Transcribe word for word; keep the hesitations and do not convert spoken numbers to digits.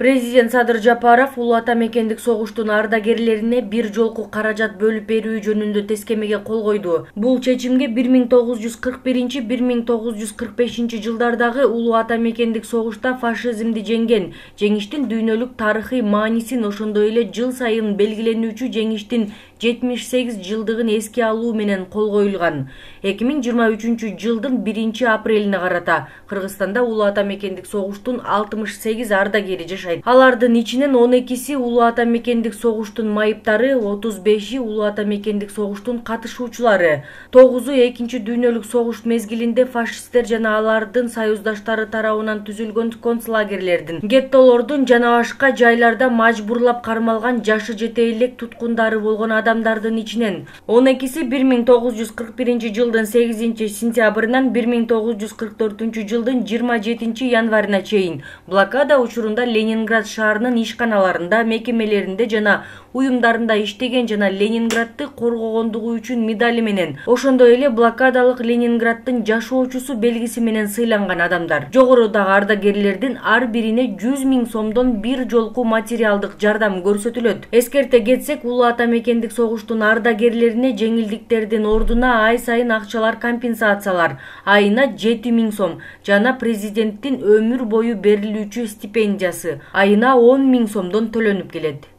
Президент Садыр Жапаров Улуу Ата Мекендик согуштун ардагерлерине бир жолку каражат бөлүп берүү жөнүндө тескемеге кол койду. Бул чечимге бир миң тогуз жүз кырк биринчи — бир миң тогуз жүз кырк бешинчи жылдардагы Улуу Ата Мекендик согушта фашизмди жеңген жеңиштин дүйнөлүк тарыхый маанисин, ошондой эле жыл сайын белгиленүүчү жеңиштин жетимиш сегиз жылдыгын эске алуу менен кол коюлган. эки миң жыйырма үчүнчү жылдын биринчи апрелине карата Кыргызстанда Улуу Ата Мекендик согуштун алтымыш сегиз ардагери жашайт. Алардын ичинен он экиси Улуу Ата Мекендик согуштун майыптары, отуз беши Улуу Ата Мекендик согуштун катышуучулары. тогузу экинчи дүйнөлүк согуш мезгилинде фашисттер жана алардын союздаштары тарабынан түзүлгөн концлагерлердин, геттолордун жана башка жайларда мажбурлап кармалган жашы жете элек туткундары болгон адамдардын ичинен он экиси бир миң тогуз жүз кырк биринчи жылдын сегизинчи сентябрынан бир миң тогуз жүз кырк төртүнчү жылдын жыйырма жетинчи январына чейин блокада учурунда Ленинград шаарынын ишканаларында, мекемелеринде жана уюмдарында иштеген жана Ленинградты коргогондугу үчүн медали менен, ошондой эле блокадалык Ленинграддын жашоочусу белгиси менен сыйланган адамдар. Жогорудагы ардагерлердин ар бирине жүз миң сомдон бир жолку материалдык жардам көрсөтүлөт. Эскерте кетсек, Улуу Ата Мекендик согуштун ардагерлерине жеңилдиктердин ордуна ай сайын акчалар компенсациялар, айына жети миң сом жана президенттин өмүр бою берилүүчү стипендиясы айына он миң сомдон төлөнүп келет.